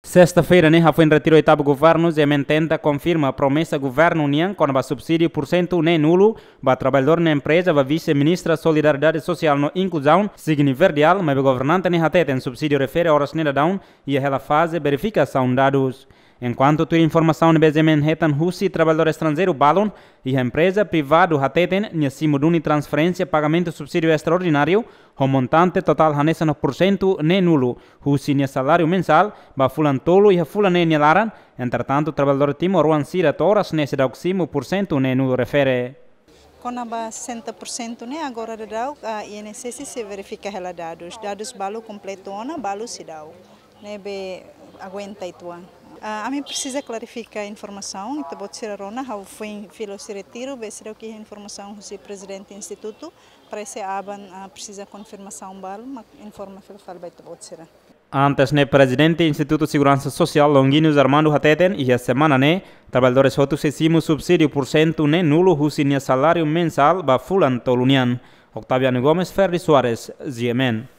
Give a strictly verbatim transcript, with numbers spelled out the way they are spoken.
Sesta-feira ne'e hafoin retiru oitavu governu GMN tenta konfirma promesa governu nian kona-ba subsídiu pursentu neen-nulu ba traballadór no empreza ba vise-ministra Solidariedade Sosiál no Inkluzaun, Sidney Verdial, maibé governante ne'e hateten subsídiu refere oras ne'e daudaun iha hela faze verifikasaun dadus. Enkuantu tuir informasaun ne'ebé GMN hetan husi traballadór estranjeiru balun, iha empreza privadu hateten nia simu duni transferénsia pagamentu subsídiu estraordináriu ho montante totál hanesan pursentu neen-nulu husi nia saláriu mensál ba fulan tolu iha fulan neen nia laran. Entretantu, traballadór timoroan sira to'o oras ne'e seidauk simu pursentu neen-nulu refere. Kona-ba sessenta por cento ne'e agora daudaun, ah, INSS sei verifika hela dadus. Dadus balu kompletu ona, balu seidauk. Ne'ebé aguenta uitoan. Ah, ami presiza klarifika informasaun, ita-boot sira rona, ha'u foin fila husi retiru, be seidauk iha informasaun husi prezidente institutu, parese aban, ah, presiza konfirmasaun balu, mak informa fila fali ba ita-boot sira. Antes ne'e, prezidente Institutu Seguransa Sosiál, Longuinhos Armando hateten, iha semana ne'e, traballadores hotu sei simu subsídiu pursentu neen-nulu husi nia saláriu mensál ba fulan tolu nian. Octaviano Gomes, Ferdi Soares, GMN.